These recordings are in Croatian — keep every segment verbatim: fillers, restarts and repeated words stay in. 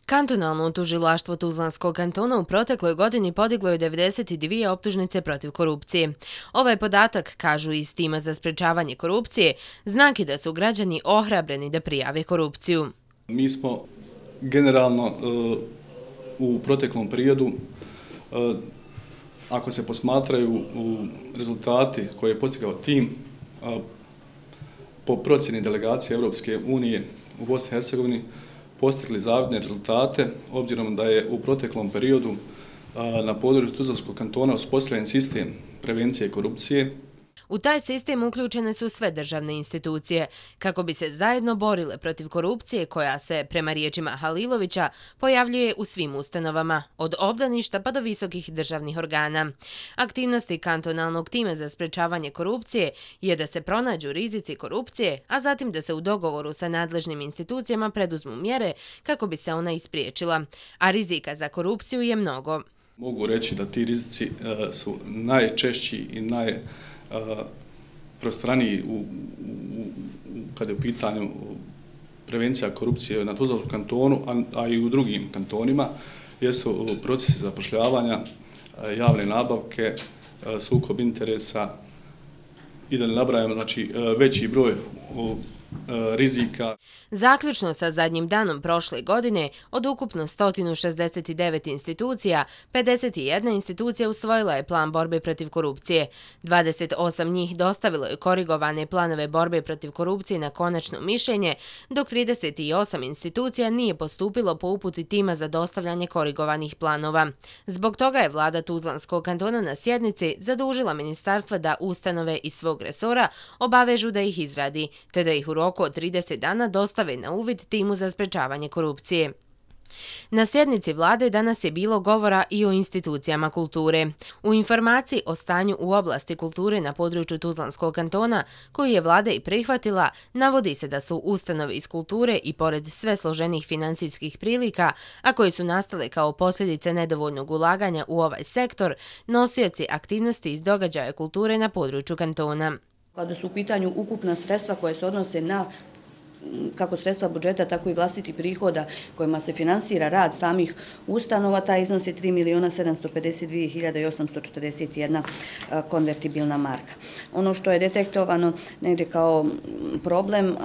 Kantonalno tužilaštvo Tuzlanskog kantona u protekloj godini podiglo je devedeset dvije optužnice protiv korupcije. Ovaj podatak, kažu iz tima za sprečavanje korupcije, znak je da su građani ohrabreni da prijave korupciju. Mi smo generalno u proteklom periodu, ako se posmatraju rezultati koje je postigao tim po procjeni delegacije Europske unije u Bosni i Hercegovini, postigli zavidne rezultate, obzirom da je u proteklom periodu na području Tuzlanskog kantona uspostavljen sistem prevencije korupcije. U taj sistem uključene su sve državne institucije, kako bi se zajedno borile protiv korupcije koja se, prema riječima Halilovića, pojavljuje u svim ustanovama, od obdaništa pa do visokih državnih organa. Aktivnosti kantonalnog tima za sprečavanje korupcije je da se pronađu rizici korupcije, a zatim da se u dogovoru sa nadležnim institucijama preduzmu mjere kako bi se ona ispriječila. A rizika za korupciju je mnogo. Mogu reći da ti rizici su najčešći i naj prostraniji kada je u pitanju prevencija korupcije na Tuzlanskom kantonu, a i u drugim kantonima, jesu procesi zapošljavanja, javne nabavke, sukob interesa i da ne nabrajamo, znači, veći broj rizika. Zaključno sa zadnjim danom prošle godine, od ukupno sto šezdeset devet institucija, pedeset jedna institucija usvojila je plan borbe protiv korupcije. dvadeset osam njih dostavilo je korigovane planove borbe protiv korupcije na konačno mišljenje, dok trideset osam institucija nije postupilo po uputi tima za dostavljanje korigovanih planova. Zbog toga je vlada Tuzlanskog kantona na sjednici zadužila ministarstva da ustanove iz svog resora obavežu da ih izradi, te da ih u roku od trideset dana dostave na uvid timu za sprečavanje korupcije. Na sjednici vlade danas je bilo govora i o institucijama kulture. U informaciji o stanju u oblasti kulture na području Tuzlanskog kantona, koju je vlada i prihvatila, navodi se da su ustanove iz kulture i pored sve složenih finansijskih prilika, a koji su nastale kao posljedice nedovoljnog ulaganja u ovaj sektor, nosioci aktivnosti iz događaja kulture na području kantona. Kada su u pitanju ukupna sredstva koje se odnose na kako sredstva budžeta, tako i vlastiti prihoda kojima se finansira rad samih ustanova, taj iznos je tri miliona sedamsto pedeset dvije hiljade osamsto četrdeset jedna konvertibilna marka. Ono što je detektovano negdje kao problem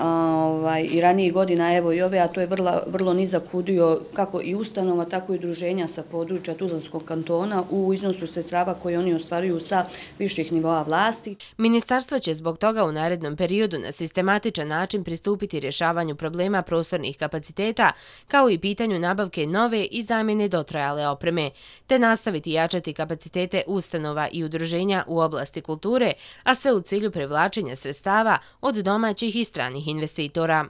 i ranijih godina, evo i ove, a to je vrlo nizak udio kako i ustanova, tako i udruženja sa područja Tuzlanskog kantona u iznosu sredstava koje oni ostvaruju sa viših nivoa vlasti. Ministarstvo će zbog toga u narednom periodu na sistematičan način pristupiti rješavanju problema prostornih kapaciteta, kao i pitanju nabavke nove i zamjene dotrajale opreme, te nastaviti jačati kapacitete ustanova i udruženja u oblasti kulture, a sve u cilju privlačenja sredstava od domaćih i stranih investitora.